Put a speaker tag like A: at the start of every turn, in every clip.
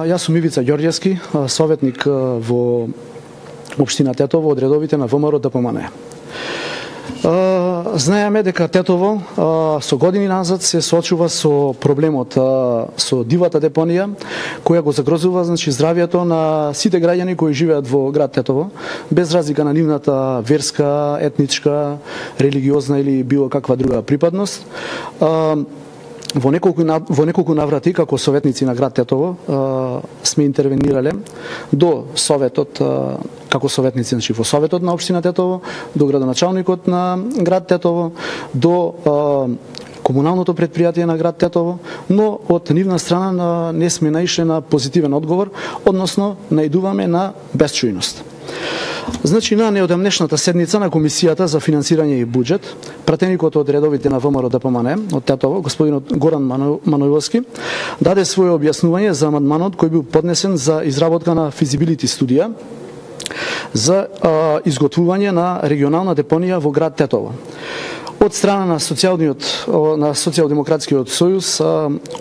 A: Јас сум Ивица Ѓорѓевски, советник во општина Тетово од редовите на ВМРО ДПМН. Знаеме дека Тетово со години назад се соочува со проблемот со дивата депонија, која го загрозува здравјето на сите граѓани кои живеат во град Тетово, без разлика на нивната верска, етничка, религиозна или било каква друга припадност. Во неколку наврати како советници на град Тетово сме интервенирале до советот, како советници во советот на општина Тетово, до градоначалникот на град Тетово, до комуналното предпријатие на град Тетово, но од нивна страна не сме наишле на позитивен одговор, односно наидуваме на безчујност. На неодамнешната седница на Комисијата за финансирање и буџет, пратеникот од редовите на ВМРО ДПМН од Тетово, господинот Горан Маноиловски, даде своје објаснување за амандманот кој бил поднесен за изработка на физибилити студија за изготвување на регионална депонија во град Тетово. Од страна на Социјалдемократскиот сојуз,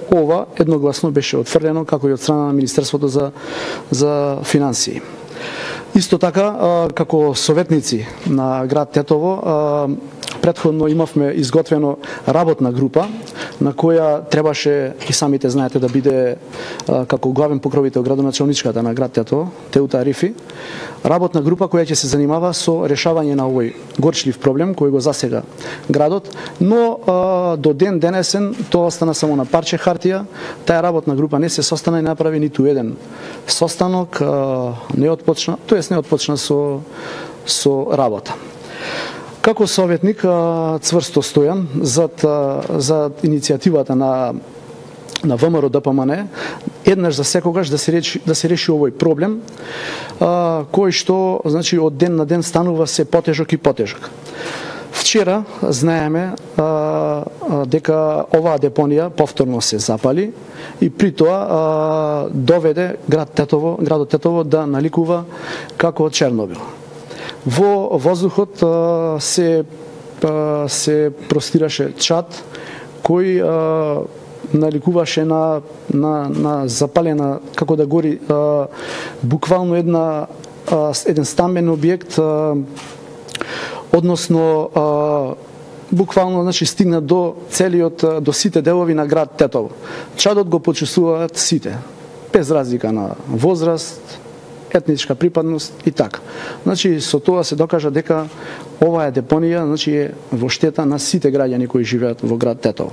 A: ова едногласно беше отфрлено, како и од страна на Министерството за финансии. Исто така, како советници на град Тетово, претходно имавме изготвено работна група, на која требаше, и самите знаете, да биде како главен покровител градоначалничката на град Тетово, Теута Арифи, работна група која ќе се занимава со решавање на овој горчлив проблем кој го засега градот, но до ден денесен тоа остана само на парче хартија. Таа работна група не се состана и направи ниту еден состанок, не отпочна со работа. Како советник цврсто стојам за иницијативата на ВМРО ДПМН, еднаш за секогаш да се реши овој проблем, кој што од ден на ден станува се потежок и потежок. Вчера знаеме дека оваа депонија повторно се запали и при тоа доведе градот Тетово да наликува како Чернобил. Во воздухот се простираше чад кој наликуваше на запалена, како да гори буквално еден стамбен објект, односно буквално стигна до сите делови на град Тетово. Чадот го почувствуваат сите, без разлика на возраст, етничка припадност и така. Со тоа се докажа дека оваа депонија е во штета на сите граѓани кои живеат во град Тетово.